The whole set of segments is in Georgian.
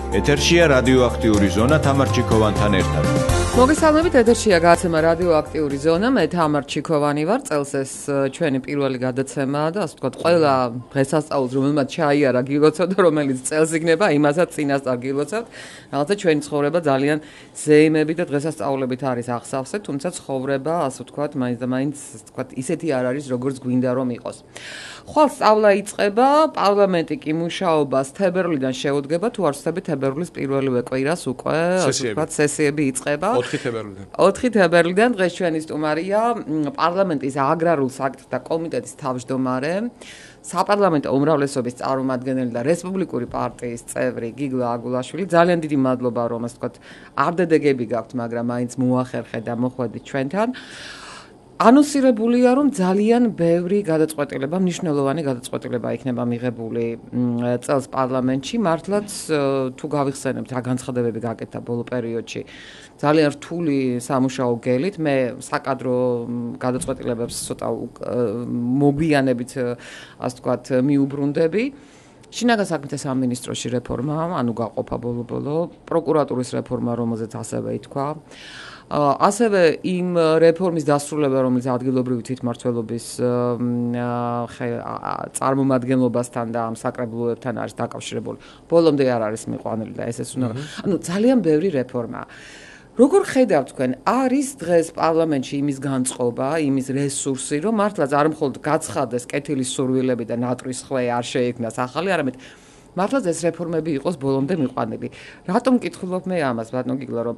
ეთერშია რადიოაქტიური ზონა თამარ ჩიქოვანთან ერთად. მოგესალმებით, ეთერშია გადაცემა რადიოაქტიური ზონა, მე თამარ ჩიქოვანი ვარ. წელს ეს ჩვენი პირველი გადაცემაა და ასე ვთქვათ, ყველა დღესასწაულს რომელმაც ჩაიარა გილოცავთ და რომელიც წელს იქნება, იმასაც წინასწარ გილოცავთ. რაღაცა ჩვენი ცხოვრება ძალიან ზეიმები და დღესასწაულებით არის აღსავსე, თუმცა ცხოვრება, ასე ვთქვათ, მაინც და მაინც, ასე ვთქვათ, ისეთი არ არის, როგორც გვინდა რომ იყოს. ხვალ სწავლა იწყება, პარლამენტი კი მუშაობას თებერვლიდან შეუდგება, თუ არ ვცდები თებერვლის პირველივე კვირას უკვე, ასე ვთქვათ, სესიები იწყება. 4 თებერვლიდან დღეს ჩვენი სტუმარია პარლამენტის აგრარულ საკითხთა კომიტეტის თავმჯდომარე, საპარლამენტო უმრავლესობის წარმომადგენელი და რესპუბლიკური პარტიის წევრი გიგლა აგულაშვილი. ძალიან დიდი მადლობა, რომ ასე ვთქვათ, არდედეგები გაქვთ, მაგრამ მაინც მოახერხეთ და მოხვედით ჩვენთან. ანონსირებულია, რომ ძალიან ბევრი გადაწყვეტილება, მნიშვნელოვანი გადაწყვეტილება იქნება მიღებული წელს პარლამენტში. მართლაც თუ გავიხსენებთ რა განცხადებები გაკეთდა ბოლო პერიოდში, ძალიან რთული სამუშაო გელით, მე საკადრო გადაწყვეტილებებს ცოტა მოგვიანებით, ასე ვთქვათ, მიუბრუნდები. შინაგან საქმეთა სამინისტროში რეფორმა, ანუ გაყოფა ბოლო-ბოლო, პროკურატურის რეფორმა, რომელზეც ასევე ითქვა. ასევე იმ რეფორმის დასრულება, რომელიც ადგილობრივი თვითმმართველობის წარმომადგენლობასთან და ამ საკრებულოებთან არის დაკავშირებული. ბოლომდე არ არის მიყვანილი და ესეც უნდა. ანუ ძალიან ბევრი რეფორმაა. როგორ ხედავთ თქვენ, არის დღეს პარლამენტში იმის განწყობა, იმის რესურსი, რომ მართლაც არ მხოლოდ გაცხადდეს კეთილის სურვილები და ნატრის ხვე არ შეექმნას ახალი, არამედ მართლაც ეს რეფორმები იყოს ბოლომდე მიყვანილი. რატომ მკითხულობ მე ამას, ბატონო გიგლა, რომ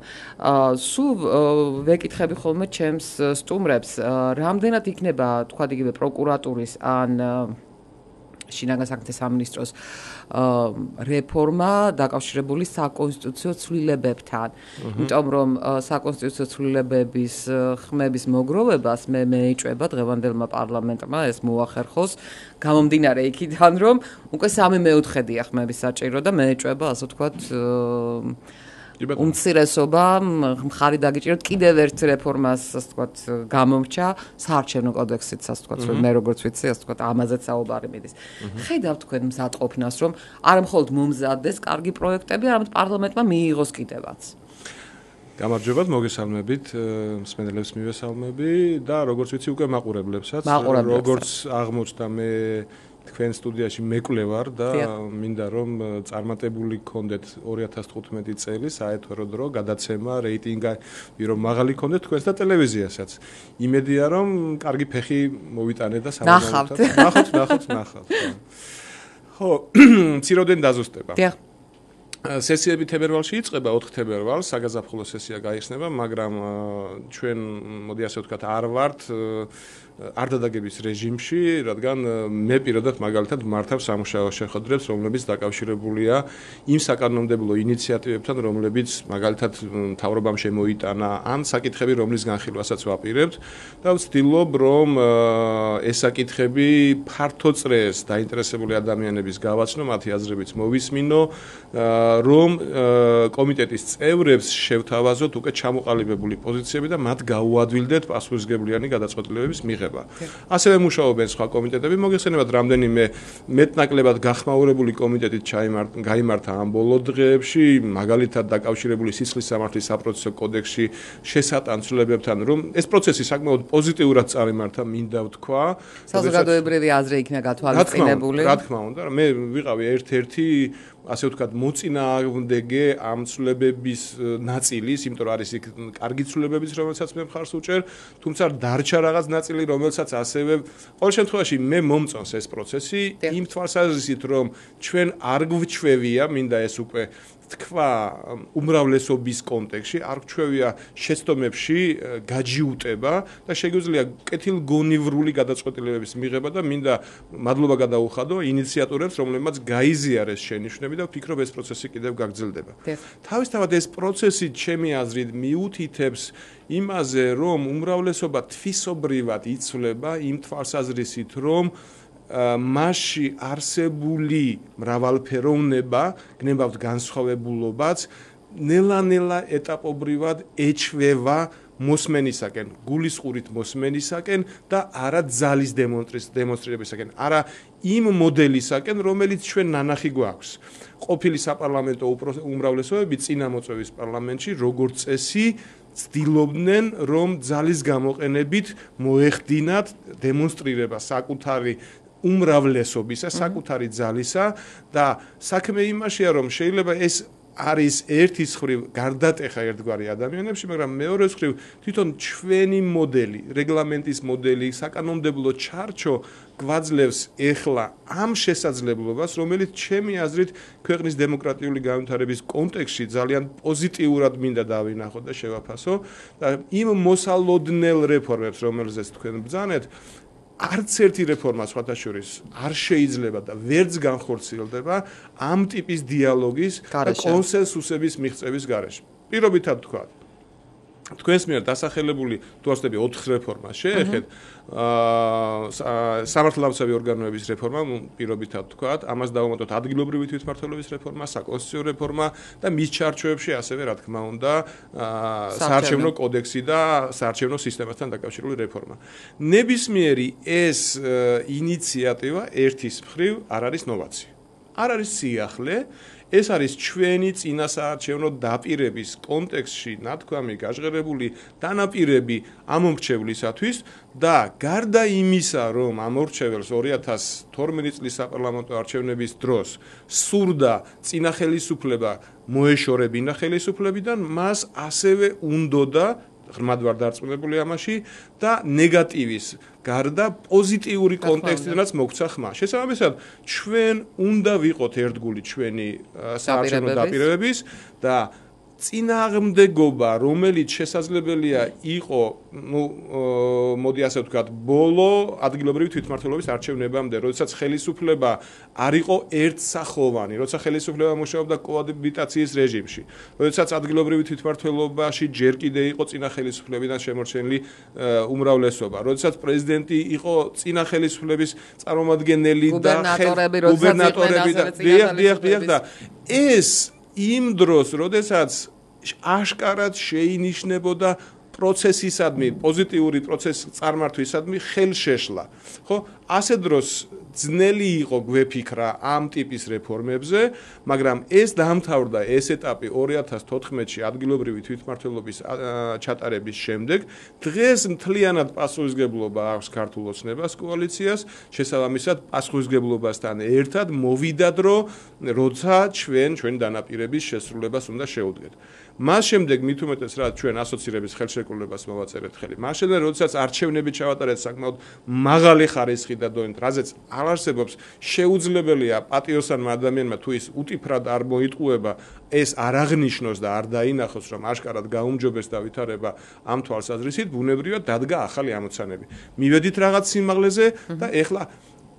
სულ ვეკითხები ხოლმე ჩემს სტუმრებს, რამდენად იქნება, თქვათ იგივე პროკურატურის ან შინაგან საქმეთა სამინისტროს რეფორმა დაკავშირებული საკონსტიტუციო ცვლილებებთან. იმიტომ რომ საკონსტიტუციო ცვლილებების ხმების მოგროვებას მე მეეჭვება დღევანდელმა პარლამენტმა ეს მოახერხოს, გამომდინარე იქიდან, რომ უკვე 3/4-ია ხმების საჭირო და მეეჭვება, ასე ვთქვათ, უმცირესობა მხარი დაგიჭიროთ კიდევ ერთ რეფორმას, ასე ვთქვათ, გამომრჩა საარჩევნო კოდექსიც, ასე ვთქვათ, რომ მე როგორც ვიცი, ასე ვთქვათ, ამაზეც საუბარი მიდის. ხედავთ თქვენ მზადყოფნას, რომ არა მხოლოდ მომზადდეს კარგი პროექტები, არამედ პარლამენტმა მიიღოს კიდევაც. გამარჯობათ, მოგესალმებით, მსმენელებს მივესალმები და როგორც ვიცი, უკვე მაყურებლებსაც, როგორც აღმოჩნდა მე თქვენ სტუდიაში მეკლე ვარ და მინდა რომ წარმატებული გქონდეთ 2015 წელი საეთერო დრო გადაცემა რეიტინგი რომ მაღალი გქონდეთ თქვენს და ტელევიზიასაც. იმედია რომ კარგი ფეხი მოვიტანეთ და ნახავთ. ხო, მციროდენ დაზუსტება. სესიები თებერვალში იწყება 4 თებერვალს, საგაზაფხულო სესია გაიხსნება, მაგრამ ჩვენ მოდი ასე ვთქვათ, არ ვართ არდადაგების რეჟიმში, რადგან მე პირადად მაგალითად მართავ სამუშაო შეხვედრებს, რომლებიც დაკავშირებულია იმ საკანონმდებლო ინიციატივებთან, რომლებიც მაგალითად მთავრობამ შემოიტანა, ან საკითხები, რომლის განხილვასაც ვაპირებთ და ვცდილობ, რომ ეს საკითხები ფართო წრეს დაინტერესებული ადამიანების გავაცნო, მათი აზრებიც მოვისმინო, რომ კომიტეტის წევრებს შევთავაზოთ უკვე ჩამოყალიბებული პოზიციები და მათ გაუადვილდეთ პასუხისმგებლიანი გადაწყვეტილებების მიღება. ასევე მუშაობენ სხვა კომიტეტები, მოგეხსენებათ რამდენიმე მეტნაკლებად გახმაურებული კომიტეტით გაიმართა ამ ბოლო დღეებში, მაგალითად დაკავშირებული სისხლის სამართლის საპროცესო კოდექსში შესატან ცვლილებებთან, რომ ეს პროცესი საკმაოდ პოზიტიურად წარიმართა, მინდა ვთქვა. საზოგადოებრივი აზრი იქნა გათვალისწინებული. რა თქმა უნდა, მე ვიყავი ერთ-ერთი ასე ვთქვათ, მოწინააღმდეგე ამ ცვლილებების ნაწილის, იმიტომ რომ არის იქ კარგი ცვლილებებიც, რომელსაც მე მხარს უჭერ, თუმცა დარჩა რაღაც ნაწილი, რომელსაც ასევე ყოველ შემთხვევაში მე მომწონს ეს პროცესი, იმ თვალსაზრისით, რომ ჩვენ არ გვჩვევია, მინდა ეს უკვე თქვა უმრავლესობის კონტექსტში, არ გვჩვევია შეცდომებში გაჯიუტება და შეგვიძლია კეთილგონივრული გადაწყვეტილებების მიღება და მინდა მადლობა გადაუხადო ინიციატორებს, რომლებმაც გაიზიარეს შენიშვნები და ვფიქრობ ეს პროცესი კიდევ გაგრძელდება. თავისთავად ეს პროცესი ჩემი აზრით მიუთითებს იმაზე, რომ უმრავლესობა თვისობრივად იცვლება იმ თვალსაზრისით, რომ მასში არსებული მრავალფეროვნება, გნებავთ განსხვავებულობაც, ნელა-ნელა ეტაპობრივად ეჩვევა მოსმენისაკენ, გულისყურით მოსმენისაკენ და არა ძალის დემონსტრირებისაკენ, არა იმ მოდელისაკენ, რომელიც ჩვენ ნანახი გვაქვს. ყოფილი საპარლამენტო უმრავლესობები წინამოწვევის პარლამენტში როგორც წესი ცდილობდნენ, რომ ძალის გამოყენებით მოეხდინათ დემონსტრირება საკუთარი უმრავლესობისა, საკუთარი ძალისა და საქმე იმაშია, რომ შეიძლება ეს არის ერთის ხრივ გარდატეხა ერთგვარი ადამიანებში, მაგრამ მეორეს ხრივ თვითონ ჩვენი მოდელი, რეგლამენტის მოდელი, საკანონმდებლო ჩარჩო გვაძლევს ეხლა ამ შესაძლებლობას, რომელიც ჩემი აზრით ქვეყნის დემოკრატიული განვითარების კონტექსტში ძალიან პოზიტიურად მინდა დავინახო და შევაფასო და იმ მოსალოდნელ რეფორმებს, რომელზეც თქვენ ბრძანეთ, არც ერთი რეფორმა სხვათა შორის არ შეიძლება და ვერც განხორციელდება ამ ტიპის დიალოგის და კონსენსუსების მიღწევის გარეშე. პირობითად თქვა, თქვენს მიერ დასახელებული თუ არსებობ 4 რეფორმა შეეხეთ სამართლებრივი ორგანოების რეფორმა, პირობითად თქვა, ამას დავუმატოთ ადგილობრივი თვითმმართველობის რეფორმა, საკონსტიტუციო რეფორმა და მის ჩარჩოებში ასევე რა თქმა უნდა საარჩევნო კოდექსი და საარჩევნო სისტემასთან დაკავშირებული რეფორმა. ნებისმიერი ეს ინიციატივა ერთის მხრივ არ არის ნოვაცია. არ არის სიახლე, ეს არის ჩვენი წინასაარჩევნო დაპირების კონტექსტში ნათქვამი გაჟღერებული დანაპირები ამომრჩევლისათვის და გარდა იმისა, რომ ამორჩეველს 2012 წლის საპარლამენტო არჩევნების დროს სურდა წინა ხელისუფლება მოეშორებინა ხელისუფლებიდან, მას ასევე უნდოდა ღრმად ვარ დარწმუნებული ამაში და ნეგატივის გარდა პოზიტიური კონტექსტიდანაც მოგვცა ხმა. შესაბამისად, ჩვენ უნდა ვიყოთ ერთგული ჩვენი საარჩევნო დაპირებების და წინააღმდეგობა, რომელიც შესაძლებელია იყო, მოდი ასე ვთქვათ, ბოლო ადგილობრივი თვითმმართველობის არჩევნებამდე, როდესაც ხელისუფლება არ იყო ერთსახოვანი, როცა ხელისუფლება მუშაობდა კოაბიტაციის რეჟიმში, როდესაც ადგილობრივი თვითმმართველობაში ჯერ კიდე იყო წინა ხელისუფლებიდან შემორჩენილი უმრავლესობა, როდესაც პრეზიდენტი იყო წინა ხელისუფლების წარმომადგენელი და გუბერნატორები და ეს იმ დროს, როდესაც აშკარად შეინიშნებოდა პროცესისადმი, პოზიტიური პროცესის წარმართვისადმი ხელშეშლა. ხო, ასე დროს ძნელი იყო გვეფიქრა ამ ტიპის რეფორმებზე, მაგრამ ეს დაამთავრდა ეს ეტაპი 2014-ში ადგილობრივი თვითმმართველობის ჩატარების შემდეგ. დღეს მთლიანად პასუხისმგებლობა აქვს ქართულ ოცნებას კოალიციას, შესაბამისად პასუხისმგებლობასთან ერთად მოვიდა დრო, როცა ჩვენი დანაპირების შესრულებას უნდა შევუდგეთ. მას შემდეგ მით უმეტეს რა ჩვენ ასოცირების ხელშეკრულებას მოვაწერეთ ხელი. მას შემდეგ როდესაც არჩევნები ჩავატარეთ საკმაოდ მაღალი ხარისხი და დონით, რაზეც არ არსებობს შეუძლებელია პატიოსანმა ადამიანმა თუ ის უტიფრად არ მოიტყუება, ეს არ აღნიშნოს და არ დაინახოს, რომ აშკარად გაუმჯობეს დავითარება ამ თვალსაზრისით, ბუნებრივად დადგა ახალი ამოცანები. მივედით რაღაც სიმაღლეზე და ეხლა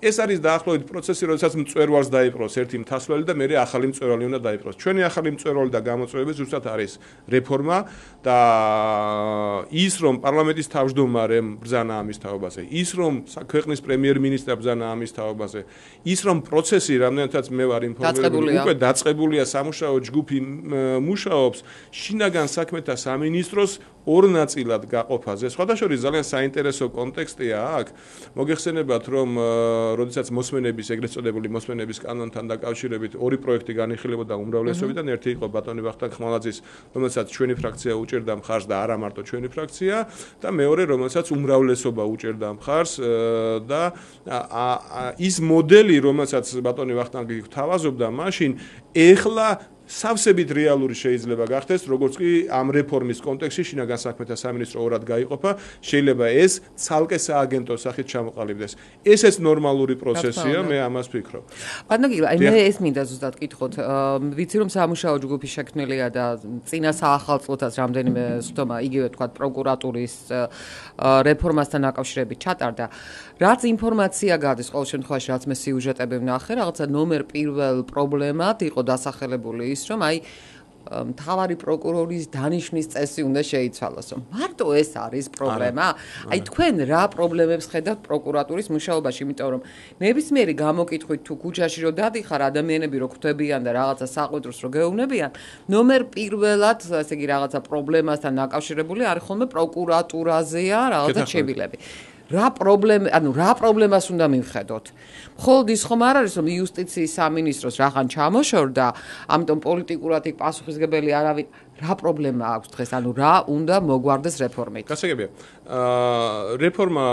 ეს არის დაახლოებით პროცესი, როდესაც მწვერვალს დაიპყროს ერთი მთასვლელი და მერე ახალი მწვერვალი უნდა დაიპყროს. ჩვენი ახალი მწვერვალი და გამოწვევები ზუსტად არის რეფორმა და ის რომ პარლამენტის თავმჯდომარემ ბრძანა ამის თაობაზე, ის რომ ქვეყნის პრემიერ-მინისტრმა ბრძანა ამის თაობაზე, ის რომ პროცესი რამდენადაც მე ვარ ინფორმირებული, უკვე დაწყებულია სამუშაო ჯგუფი მუშაობს შინაგან საქმეთა სამინისტროს ორ ნაწილად გაყოფაზე. სხვათა შორის ძალიან საინტერესო კონტექსტია აქ. მოგეხსენებათ, რომ როდესაც მოსმენების, ეგრეთ წოდებული მოსმენების კანონთან დაკავშირებით ორი პროექტი განიხილებოდა უმრავლესობიდან, ერთი იყო ბატონი ვახტანგ ხმალაძის, რომელსაც ჩვენი ფრაქცია უჭერდა მხარს და არა მარტო ჩვენი ფრაქცია, და მეორე, რომელსაც უმრავლესობა უჭერდა მხარს და ის მოდელი, რომელსაც ბატონი ვახტანგი გთავაზობდა მაშინ, ეხლა სავსებით რეალური შეიძლება გახდეს, როგორც კი ამ რეფორმის კონტექსტში შინაგან საქმეთა სამინისტრო ორად გაიყოფა, შეიძლება ეს ცალკე სააგენტო სახით ჩამოყალიბდეს. ესეც ნორმალური პროცესია, მე ამას ვფიქრობ. ბატონო, მე ეს მინდა ზუსტად გითხოთ, ვიცი რომ სამუშაო ჯგუფი შექმნილია და წინა საახალწლოთაც რამდენიმე სხდომა, იგივე თქვა პროკურატურის რეფორმასთან დაკავშირებით ჩატარდა. რაც ინფორმაცია გადის ყოველ შემთხვევაში, რაც მე სიუჟეტები ვნახე, რაღაცა ნომერ პირველ პრობლემად იყო დასახელებული ის, რომ მთავარი პროკურორის დანიშვნის წესი უნდა შეიცვალოს. მარტო ეს არის პრობლემა. აი თქვენ რა პრობლემებს ხედავთ პროკურატურის მუშაობაში, იმიტომ რომ ნებისმიერი გამოკითხვით თუ ქუჩაში რო დადიხარ, ადამიანები რო ხვდებიან და რაღაცა საყვედროს რო გეუბნებიან, ნომერ პირველად, ასე იგი რაღაცა პრობლემასთან დაკავშირებული არის ხოლმე პროკურატურაზეა რაღაცა შებილები. რა პრობლემას უნდა მივხედოთ? მხოლოდ ის ხომ არ არის, რომ იუსტიციის სამინისტროს რახან ჩამოშორდა, ამიტომ პოლიტიკურად იქ პასუხისგებელი არავინ. რა პრობლემა აქვს დღეს? რა უნდა მოგვარდეს რეფორმით? გასაგებია. რეფორმა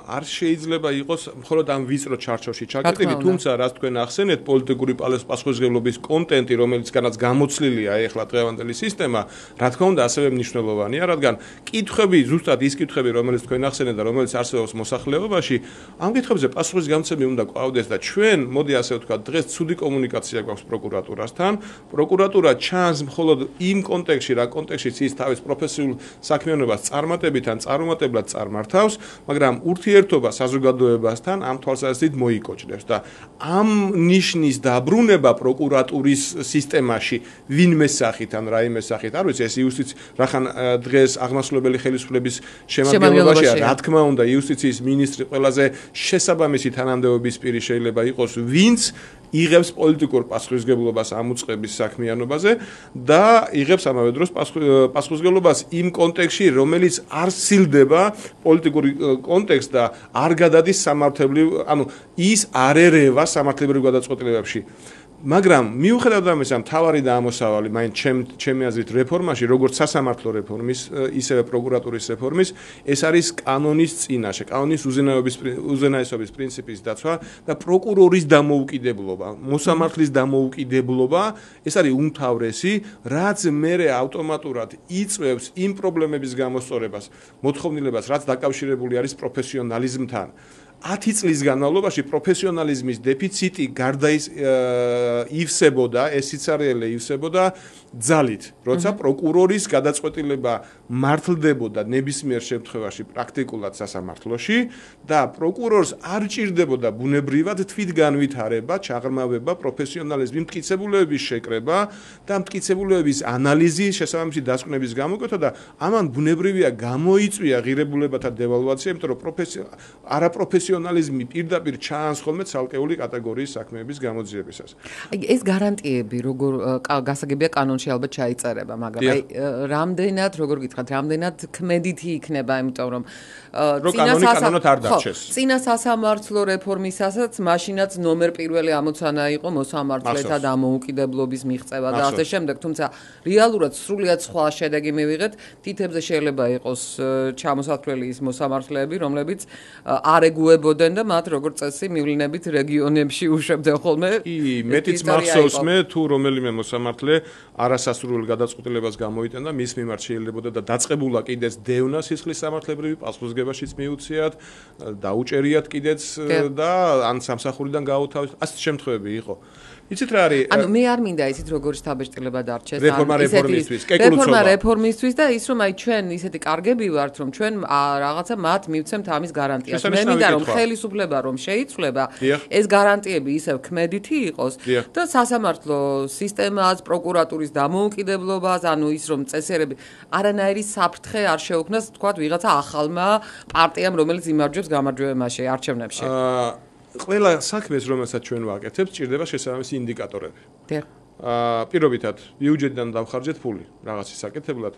არ შეიძლება იყოს მხოლოდ ამ ვიწრო ჩარჩოში ჩაკეტილი, თუმცა რაც თქვენ ახსენეთ, პოლიტიკური პასუხისმგებლობის კონტენტი, რომელიცგანაც გამოცლილია ეხლა დღევანდელი სისტემა, რა თქმა უნდა, ასევე მნიშვნელოვანია, რადგან კითხვები, ზუსტად ის კითხვები, რომელიც თქვენ ახსენეთ და რომელიც არსებობს მოსახლეობაში, ამ კითხვებზე პასუხის გამცემი უნდა ყვავდეს და ჩვენ, მოდი ასე ვთქვათ, დღეს ცუდი კომუნიკაცია გვაქვს პროკურატურასთან. პროკურატურა ჩანს მხოლოდ იმ კონტექსტში, რა კონტექსტშიც ის თავის პროფესიულ საქმიანობას წარმატებით ან წარუმატებლად წარმართავს, მაგრამ ურთიერთობა საზოგადოებასთან ამ თვალსაზრისით მოიკოჭდებს და ამ ნიშნის დაბრუნება პროკურატურის სისტემაში ვინმე სახით ან რაიმე სახით, არ ვიცი, ეს იუსტიციის რახან დღეს აღმასრულებელი ხელისუფლების შემადგენლობაშია, რა თქმა უნდა, იუსტიციის მინისტრი ყველაზე შესაბამისი თანამდებობის პირი შეიძლება იყოს, ვინც იღებს პოლიტიკურ პასუხისმგებლობას ამ უწყების საქმიანობაზე და იღებს ამავე დროს პასუხისმგებლობას იმ კონტექსტში, რომელიც არ სცილდება პოლიტიკური კონტექსტი და არ გადადის სამართლებრივ, ის არ ერევა სამართლებრივ გადაწყვეტილებებში. მაგრამ მიუხედავად ამისა, მთავარი და ამოსავალი, მაინც ჩემი აზრით რეფორმაში, როგორც სასამართლო რეფორმის, ისევე პროკურატურის რეფორმის, ეს არის კანონის წინაშე, კანონის უზენაესობის პრინციპის დაცვა და პროკურორის დამოუკიდებლობა, მოსამართლის დამოუკიდებლობა, ეს არის უმთავრესი, რაც მერე ავტომატურად იწვევს იმ პრობლემების გამოსწორებას, მოთხოვნილებას, რაც დაკავშირებული არის პროფესიონალიზმთან. 10 წლის განმავლობაში პროფესიონალიზმის დეფიციტი ივსებოდა, ეს სიცარიელე ივსებოდა ძალით, როცა პროკურორის გადაწყვეტილება მართლდებოდა ნებისმიერ შემთხვევაში პრაქტიკულად სასამართლოში და პროკურორს არ ჭირდებოდა ბუნებრივად თვითგანვითარება, ჩაღრმავება, პროფესიონალიზმის მტკიცებულებების შეკრება და მტკიცებულებების ანალიზი, შესაბამისი დასკვნების გამოკვეთა და ამან ბუნებრივია გამოიწვია ღირებულებათა devalvatsiya, იმიტომ რომ არაპროფესიონალიზმი პირდაპირ ჩაანს ხოლმე ცალკეული კატეგორიის საქმეების გამოძიებისას. ეს გარანტიები როგორ გასაგებია კანონში ალბათ ჩაიწერება, მაგრამ აი რამდენად, როგორ გითხრათ, რამდენად ქმედითი იქნება, იმიტომ რომ კანონად არ დარჩეს. წინა სასამართლო რეფორმისასაც მაშინაც ნომერ პირველი ამოცანა იყო მოსამართლეთა დამოუკიდებლობის მიღწევა და ასე შემდეგ, თუმცა რეალურად სრულიად სხვა შედეგი მივიღეთ, თითებზე შეიძლება იყოს ჩამოსათვლელი ის მოსამართლეები, რომლებიც არ ეგუებოდნენ და მათ როგორც წესი მივლინებით რეგიონებში უშვებდნენ ხოლმე. მეტიც მახსოვს მე თუ რომელიმე მოსამართლე არასასრულ გადაწყვეტილებას გამოიტანდა, მის მიმართ შეიძლებოდა და დაწყებულა კიდეც დევნა სისხლის სამართლებრივი პასუხისმგებლობაშიც მიუციათ, დაუჭერიათ კიდეც და ან სამსახურიდან გაუთავისუფლდათ. ასეთი შემთხვევები იყო. იცით რა არის? მე არ მინდა ისიც როგორ შთაბეჭდილება დარჩეს. რეფორმა რეფორმისთვის და ის რომ აი ჩვენ ისეთი კარგები ვართ, რომ ჩვენ რაღაცა მათ მივცემთ ამის გარანტიას. მე მინდა რომ ხელისუფლება რომ შეიცვლება, ეს გარანტიები ისევ ქმედითი იყოს და სასამართლო სისტემას, პროკურატურის დამოუკიდებლობას, ის რომ წესიერები არანაირი საფრთხე არ შეუქმნას, თქვათ, ვიღაცა ახალმა პარტიამ, რომელიც იმარჯვებს გამარჯვებაში, არჩევნებში. ყველა საქმეს, რომელსაც ჩვენ ვაკეთებთ, ჭირდება შესაბამისი ინდიკატორები. პირობითად, ბიუჯეტიდან დავხარჯეთ ფული რაღაცის საკეთებლად.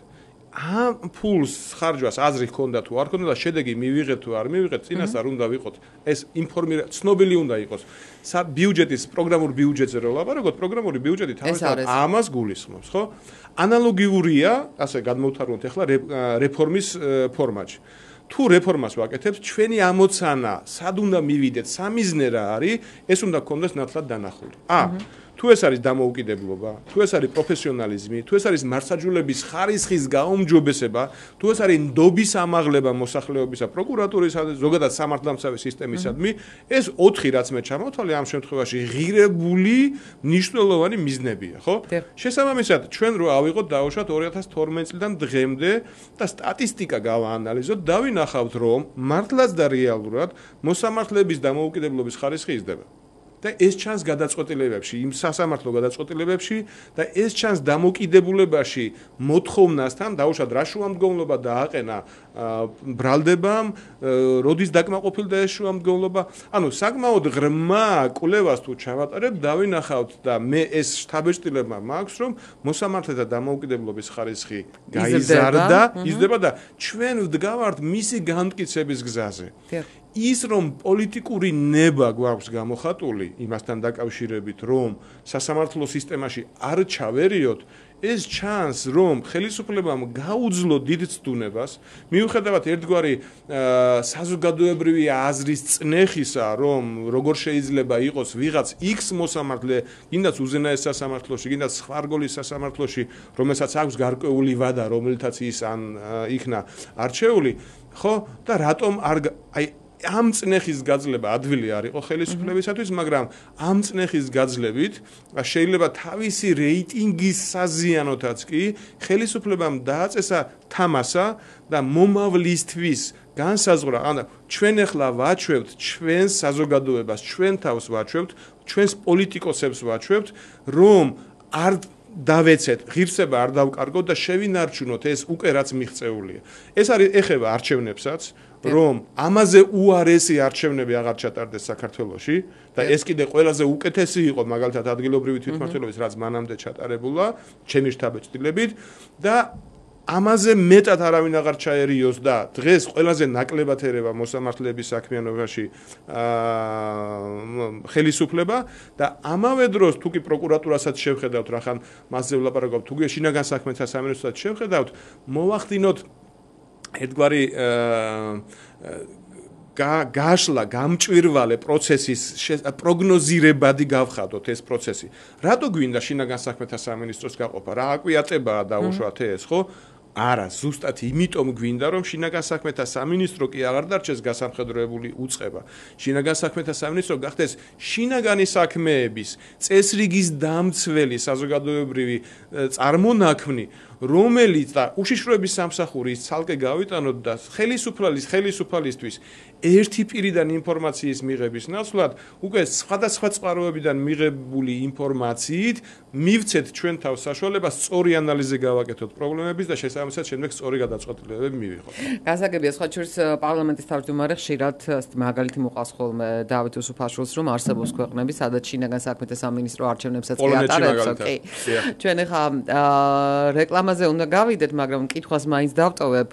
ამ ფულს ხარჯვას აზრი ჰქონდა თუ არ ჰქონდა და შედეგი მივიღეთ თუ არ მივიღეთ, წინას არ უნდა ვიყოთ. ეს ცნობილი უნდა იყოს. ბიუჯეტის პროგრამულ ბიუჯეტზე რო ვლაპარაკობთ, პროგრამული ბიუჯეტი თავისთავად ამას გულისხმობს, ხო? ანალოგიურია, ასე გადმოვთარგმნოთ ახლა რეფორმის ფორმატში. თუ რეფორმას ვაკეთებთ, ჩვენი ამოცანა, სად უნდა მივიდეთ, სამიზნე რა არის, ეს უნდა გქონდეს ნათლად დანახული. თუ ეს არის დამოუკიდებლობა, თუ ეს არის პროფესიონალიზმი, თუ ეს არის მართლმსაჯულების ხარისხის გაუმჯობესება, თუ ეს არის ნდობის ამაღლება მოსახლეობისა, პროკურატურისა, ზოგადად სამართალდამცავი სისტემისადმი, ეს 4 რაც მე ჩამოვთვალე ამ შემთხვევაში ღირებული მნიშვნელოვანი მიზნებია, ხო? შესაბამისად, ჩვენ რო ავიღოთ დავუშვათ 2012 წლიდან დღემდე და სტატისტიკა გავაანალიზოთ, დავინახავთ, რომ მართლაც და რეალურად მოსამართლეების დამოუკიდებლობის ხარისხი იზრდება. და ეს ჩანს გადაწყვეტილებებში, იმ სასამართლო გადაწყვეტილებებში და ეს ჩანს დამოკიდებულებაში მოთხოვნასთან, დაუშვათ რა შუამდგომლობა დააყენა ბრალდებამ, როდის დაკმაყოფილდა ეს შუამდგომლობა. ანუ საკმაოდ ღრმა კვლევას თუ ჩავატარებთ, დავინახავთ და მე ეს შთაბეჭდილება მაქვს, რომ მოსამართლეთა დამოუკიდებლობის ხარისხი იზრდება და ჩვენ ვდგავართ მისი განმტკიცების გზაზე. ის რომ პოლიტიკური ნება გვაქვს გამოხატული იმასთან დაკავშირებით, რომ სასამართლო სისტემაში არ ჩავერიოთ, ეს ჩანს, რომ ხელისუფლებამ გაუძლო დიდ ცდუნებას, მიუხედავად ერთგვარი საზოგადოებრივი აზრის წნეხისა, რომ როგორ შეიძლება იყოს ვიღაც X მოსამართლე, გინდაც უზენაეს სასამართლოში, გინდაც სხვა რგოლის სასამართლოში, რომელსაც აქვს გარკვეული ვადა, რომელთაც ის იქნა არჩეული, ხო? და რატომ არ ამ წნეხის გაძლება ადვილი არ იყო ხელისუფლებისათვის, მაგრამ ამ წნეხის გაძლებით შეიძლება თავისი რეიტინგის საზიანოთაც კი ხელისუფლებამ დააწესა თამასა და მომავლისთვის განსაზღვრა, ანუ ჩვენ ახლა ვაჩვევთ ჩვენს საზოგადოებას, ჩვენ თავს ვაჩვევთ, ჩვენს პოლიტიკოსებს ვაჩვევთ, რომ არ დავეცეთ, ღირსება არ დავკარგოთ და შევინარჩუნოთ ეს უკვე რაც მიღწეულია. ეს არის ეხება არჩევნებსაც, რომ ამაზე უარესი არჩევნები აღარ ჩატარდეს საქართველოში და ეს კიდე ყველაზე უკეთესი იყო მაგალითად ადგილობრივი თვითმმართველობის რაც მანამდე ჩატარებულა, ჩემი შთაბეჭდილებით და ამაზე მეტად არავინ აღარ ჩაერიოს და დღეს ყველაზე ნაკლებად ერევა მოსამართლეების საქმიანობაში ხელისუფლება და ამავე დროს თუ კი პროკურატურასაც შევხედავთ, რახან მასზე ვლაპარაკობთ, თუ კი შინაგან საქმეთა სამინისტროსაც შევხედავთ, მოვახდინოთ ერთგვარი გაშლა, გამჭვირვალე პროცესის პროგნოზირებადი გავხადოთ ეს პროცესი. რატო გვინდა შინაგან საქმეთა სამინისტროს გაყოფა? რა აკვიატებაა დაუშვათ ეს, ხო? არა, ზუსტად იმიტომ გვინდა, რომ შინაგან საქმეთა სამინისტრო კი აღარ დარჩეს გასამხედროებული უწყება. შინაგან საქმეთა სამინისტრო გახდეს შინაგანი საქმეების წესრიგის დამცველი საზოგადოებრივი წარმონაქმნი, რომელიც და უშიშროების სამსახური ცალკე გავიტანოთ და ხელისუფალისთვის ერთი პირიდან ინფორმაციის მიღების ნაცვლად უკვე სხვადასხვა წყაროებიდან მიღებული ინფორმაციით მივცეთ ჩვენ თავს საშუალებას სწორი ანალიზი გავაკეთოთ პრობლემების და შესაბამისად შემდეგ სწორი გადაწყვეტილებები მივიღოთ. გასაგებია, სხვა შორის პარლამენტის თავმჯდომარე ხშირად მაგალითი მოყავს ხოლმე დავით უსუფაშვილს, რომ არსებობს ქვეყნები, სადაც შინაგან საქმეთა სამინისტრო არჩევნებსაც კი ატარებს, ოკეი. ჩვენ ახლა რეკლამაზე უნდა გავიდეთ, მაგრამ კითხვას მაინც დავტოვებ.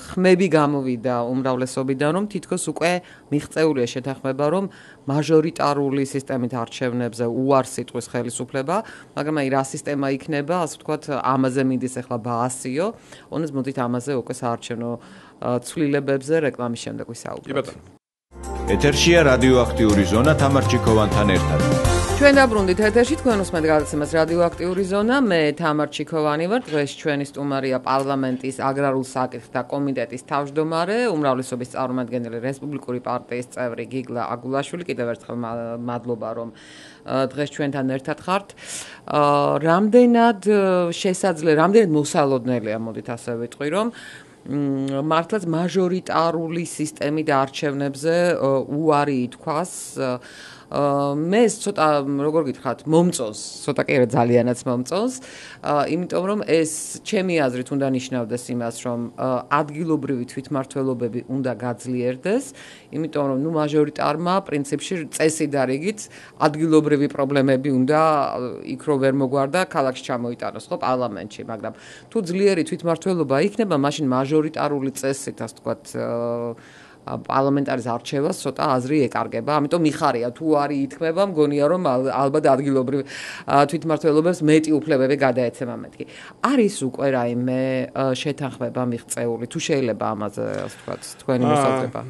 ხმები გამოვიდა უმრავლესობიდან, რომ თითქოს უკვე მიღწეულია შეთანხმება, რომ მაჟორიტარული სისტემით არჩევნებზე უარს იტყვის ხელისუფლება, მაგრამ აი რა სისტემა იქნება, ასე ვთქვათ, ამაზე მინდის ახლა ბაასიო, ონეს მოდით ამაზე უკვე საარჩევნო ცვლილებებზე რეკლამის შემდეგ ვისაუბროთ. ეთერშია რადიოაქტიური ზონა თამარ ჩიქოვანთან ერთად. ჩვენ დაბრუნდით ეთერში, თქვენ უსმენთ გადაცემას რადიოაქტიური ზონა, მე თამარ ჩიქოვანი ვარ, დღეს ჩვენი სტუმარია პარლამენტის აგრარულ საკითხთა კომიტეტის თავმჯდომარე, უმრავლესობის წარმომადგენელი რესპუბლიკური პარტიის წევრი გიგლა აგულაშვილი, კიდევ ერთხელ მადლობა, რომ დღეს ჩვენთან ერთად ხართ. რამდენად მოსალოდნელია, მოდით ასე ვიტყვი, რომ მართლაც მაჟორიტარული სისტემით არჩევნებზე უარი ითქვას. მე ცოტა როგორ გითხრათ, მომწონს, ცოტა კი არა ძალიანაც მომწონს, იმიტომ რომ ეს ჩემი აზრით უნდა ნიშნავდეს იმას, რომ ადგილობრივი თვითმმართველობები უნდა გაძლიერდეს, იმიტომ რომ მაჟორიტარმა პრინციპში წესი და რიგით ადგილობრივი პრობლემები უნდა იქ რო ვერ მოგვარდა ქალაქში ჩამოიტანოს, ხო, პარლამენტში, მაგრამ თუ ძლიერი თვითმმართველობა იქნება, მაშინ მაჟორიტარული წესით, ასე ვთქვათ, პარლამენტარის არჩევას ცოტა აზრი ეკარგება, ამიტომ მიხარია თუ არი ითქმება, მგონია რომ ალბათ ადგილობრივ თვითმმართველობებს მეტი უფლებები გადაეცემა მეთქი. არის უკვე რაიმე შეთანხმება მიღწეული, თუ შეიძლება ამაზე ასე ვთქვათ, თქვენი მოსაზრება?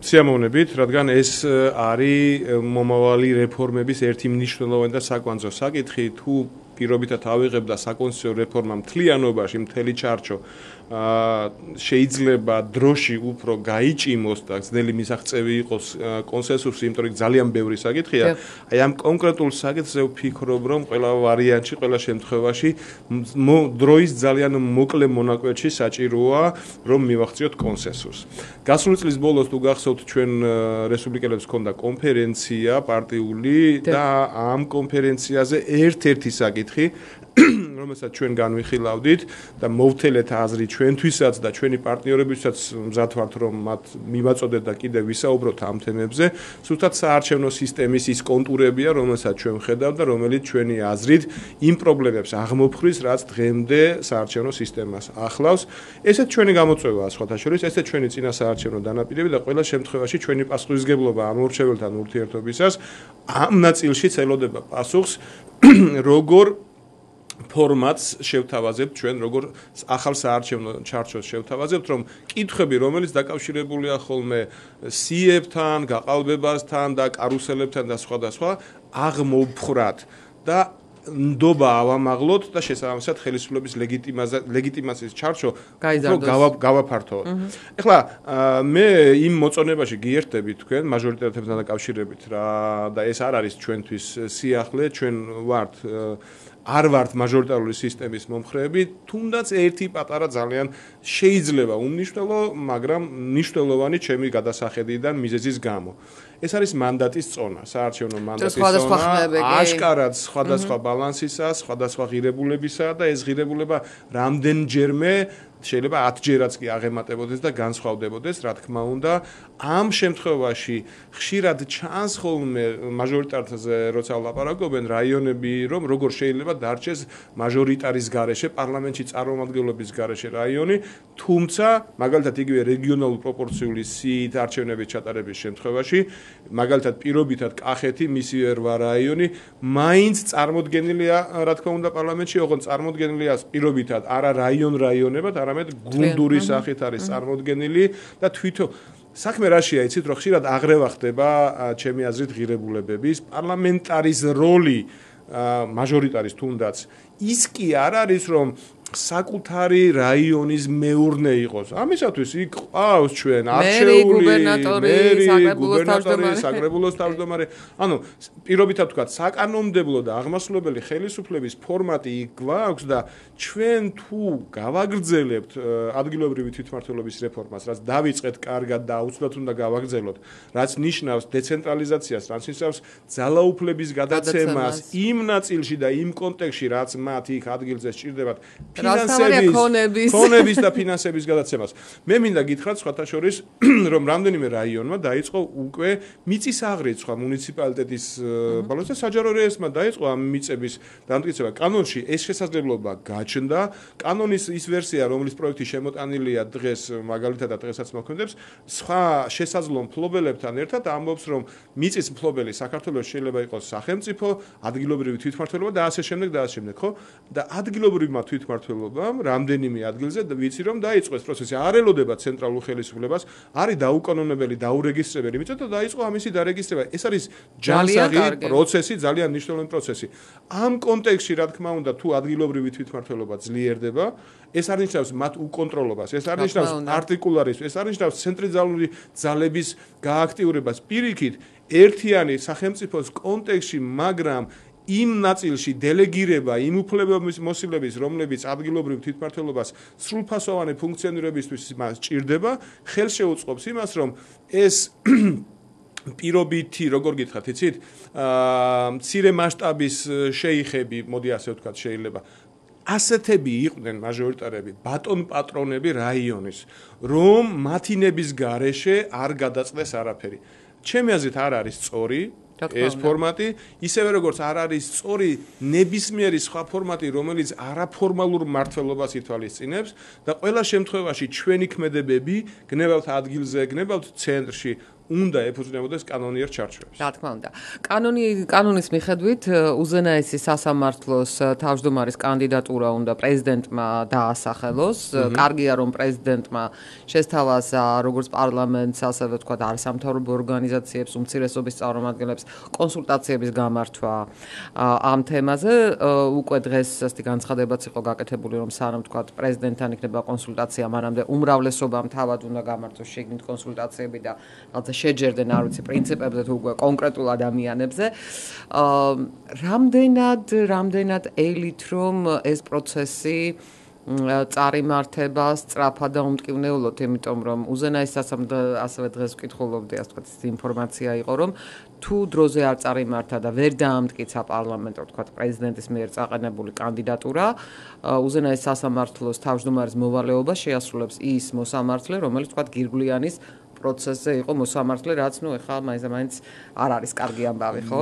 სიამოვნებით, რადგან ეს არის მომავალი რეფორმების ერთი მნიშვნელოვანი და საკვანძო საკითხი, თუ პირობითად ავიღებდა საკონსტიტუციო რეფორმა მთლიანობაში, მთელი ჩარჩო შეიძლება დროში უფრო გაიჭიმოს და ძნელი მისაღწევი იყოს კონსენსუსი, იმიტომ რომ ძალიან ბევრი საკითხია. აი ამ კონკრეტულ საკითხზე ვფიქრობ, რომ ყველა ვარიანტში, ყველა შემთხვევაში დროის ძალიან მოკლე მონაკვეთში საჭიროა, რომ მივახციოთ კონსენსუსს. გასული წლის ბოლოს თუ გახსოვთ, ჩვენ რესპუბლიკელებს ჰქონდა კონფერენცია პარტიული და ამ კონფერენციაზე ერთ-ერთი საკითხი რომელსაც ჩვენ განვიხილავდით და მოვთელეთ აზრი ჩვენთვისაც და ჩვენი პარტნიორებისთვისაც მზად ვართ რომ მათ მივაწოდეთ და კიდევ ვისაუბროთ ამ თემებზე, სულთად საარჩევნო სისტემის ის კონტურებია, რომელსაც ჩვენ ვხედავთ და რომელიც ჩვენი აზრით იმ პრობლემებს აღმოფხრის, რაც დღემდე საარჩევნო სისტემას ახლავს. ესეც ჩვენი გამოწვევაა სხვათა შორის, ესეც ჩვენი წინა საარჩევნო დანაპირები და ყველა შემთხვევაში ჩვენი პასუხისმგებლობა ამ ურჩეველთან ურთიერთობისას ამ ნაწილშიც ელოდება პასუხს, როგორ ფორმატს შევთავაზებთ ჩვენ, როგორ ახალ საარჩევნო ჩარჩოს შევთავაზებთ, რომ კითხვები, რომელიც დაკავშირებულია ხოლმე სიებთან, გაყალბებასთან და კარუსელებთან და სხვა აღმოფხვრათ და ნდობა ავამაღლოთ და შესაბამისად ხელისუფლების ლეგიტიმაციის ჩარჩო გავაფართოვოთ. ეხლა მე იმ მოწონებაში გიერთები თქვენ მაჟორიტეტებთან დაკავშირებით რა და ეს არ არის ჩვენთვის სიახლე, ჩვენ არ ვართ მაჟორიტარული სისტემის მომხრეები, თუნდაც ერთი პატარა ძალიან შეიძლება უმნიშვნელო, მაგრამ მნიშვნელოვანი ჩემი გადასახედიდან მიზეზის გამო. ეს არის მანდატის წონა, საარჩევნო მანდატის წონა, აშკარად სხვადასხვა ბალანსისა, სხვადასხვა ღირებულებისა და ეს ღირებულება რამდენჯერმე შეიძლება 10 ჯერაც კი აღემატებოდეს და განსხვავდებოდეს, რა თქმა უნდა, ამ შემთხვევაში ხშირად ჩანს ხოლმე მაჟორიტარზე როცა ვლაპარაკობენ რაიონები, რომ როგორ შეიძლება დარჩეს მაჟორიტარის გარეშე, პარლამენტში წარმომადგენლობის გარეშე რაიონი, თუმცა მაგალითად იგივე რეგიონალურ პროპორციული სიით არჩევნების ჩატარების შემთხვევაში, მაგალითად პირობითად კახეთი, მისივე 8 რაიონი, მაინც წარმოდგენილია, რა თქმა უნდა, პარლამენტში, ოღონდ წარმოდგენილია პირობითად არა რაიონებად, არამედ გუნდური სახით არის წარმოდგენილი და თვითონ საქმე რაშია, იცით, რომ ხშირად აღრევა ხდება ჩემი აზრით ღირებულებების, პარლამენტარის როლი მაჟორიტარის თუნდაც ის კი არ არის, რომ საკუთარი რაიონის მეურნე იყოს. ამისათვის იქ ყავს ჩვენ არჩეული მერი, გუბერნატორი, საკრებულოს თავმჯდომარე. ანუ პირობითად ვთქვათ, საკანონმდებლო და აღმასრულებელი ხელისუფლების ფორმატი იქ გვაქვს და ჩვენ თუ გავაგრძელებთ ადგილობრივი თვითმმართველობის რეფორმას, რაც დავიწყეთ კარგად და აუცილებლად უნდა გავაგრძელოთ, რაც ნიშნავს დეცენტრალიზაციას, რაც ნიშნავს ძალაუფლების გადაცემას იმ ნაწილში და იმ კონტექსტში, რაც მათ იქ ადგილზე სჭირდებათ. ფინანსების და ფინანსების გადაცემას. მე მინდა გითხრათ სხვათა შორის, რომ რამდენიმე რაიონმა დაიწყო უკვე მიწის აღრიცხვა მუნიციპალიტეტის ბალანსზე, საჯარო რეესტრმა დაიწყო ამ მიწების დამტკიცება. კანონში ეს შესაძლებლობა გაჩნდა. კანონის ის ვერსია, რომლის პროექტი შემოტანილია დღეს, მაგალითად და დღესაც მოქმედებს, სხვა შესაძლო მფლობელებთან ერთად ამბობს, რომ მიწის მფლობელი საქართველოს შეიძლება იყოს სახელმწიფო, ადგილობრივი თვითმმართველობა და ასე შემდეგ და ასე შემდეგ, ხო? და ადგილობრივმა თვითმმართველობამ რამდენიმე ადგილზე ვიცი რომ დაიწყო ეს პროცესი, არ ელოდება ცენტრალურ ხელისუფლებას, არის დაუკანონებელი, დაურეგისტრებელი მიწა და დაიწყო ამისი დარეგისტრება. ეს არის ჯანსაღი პროცესი, ძალიან მნიშვნელოვანი პროცესი. ამ კონტექსტში, რა თქმა უნდა, თუ ადგილობრივი თვითმმართველობა ძლიერდება, ეს არ ნიშნავს მათ უკონტროლობას, ეს არ ნიშნავს არტიკულარიზმს, ეს არ ნიშნავს ცენტრალური ძალების გააქტიურებას. პირიქით, ერთიანი სახელმწიფოს კონტექსტში, მაგრამ იმ ნაწილში დელეგირება იმ უფლებების მოსილების, რომლებიც ადგილობრივ თვითმმართველობას სრულფასოვანი ფუნქციონირებისთვის მას ჭირდება, ხელს შეუწყობს იმას, რომ ეს პირობითი, როგორ გითხრათ, იცით, მცირე მასშტაბის შეიხები, მოდი ასე ვთქვათ, შეიძლება ასეთები იყვნენ მაჟორიტარები, ბატონ პატრონები რაიონის, რომ მათინების გარეშე არ გადაწყდეს არაფერი. ჩემი აზრით არ არის სწორი ეს ფორმატი, ისევე როგორც არ არის სწორი ნებისმიერი სხვა ფორმატი, რომელიც არაფორმალურ მმართველობას ითვალისწინებს და ყველა შემთხვევაში ჩვენი ქმედებები, გნებავთ ადგილზე, გნებავთ ცენტრში, უნდა ეფუძნებოდეს კანონიერ ჩარჩოებს. რა თქმა უნდა. კანონის მიხედვით უზენაესი სასამართლოს თავმჯდომარის კანდიდატურა უნდა პრეზიდენტმა დაასახელოს. კარგია რომ პრეზიდენტმა შესთავაზა როგორც პარლამენტს, ასევე თქვა არასამთავრობო ორგანიზაციებს, უმცირესობის წარმომადგენლებს კონსულტაციების გამართვა ამ თემაზე. უკვე დღეს ასეთი განცხადებაც იყო გაკეთებული, რომ სანამ თქვა პრეზიდენტთან იქნება კონსულტაცია, მანამდე უმრავლესობამ თავად უნდა გამართოს შეგნით კონსულტაციები და რაღაცა შეჯერდნენ, არ ვიცი, პრინციპებზე თუ უკვე კონკრეტულ ადამიანებზე. რამდენად ელით რომ ეს პროცესი წარიმართება სწრაფად და უმტკივნეულოდ, იმიტომ რომ უზენაეს სასამართლო ასევე დღეს ვკითხულობდი, ასე ვთქვათ, ინფორმაცია იყო, რომ თუ დროზე არ წარიმართა და ვერ დაამტკიცა პარლამენტო, ვთქვათ, პრეზიდენტის მიერ წაყენებული კანდიდატურა, უზენაეს სასამართლოს თავმჯდომარის მოვალეობა შეასრულებს ის მოსამართლე, რომელიც, ვთქვათ, გირგვლიანის პროცესზე იყო მოსამართლე, რაც ეხლა მაინც არ არის კარგი ამბავი, ხო?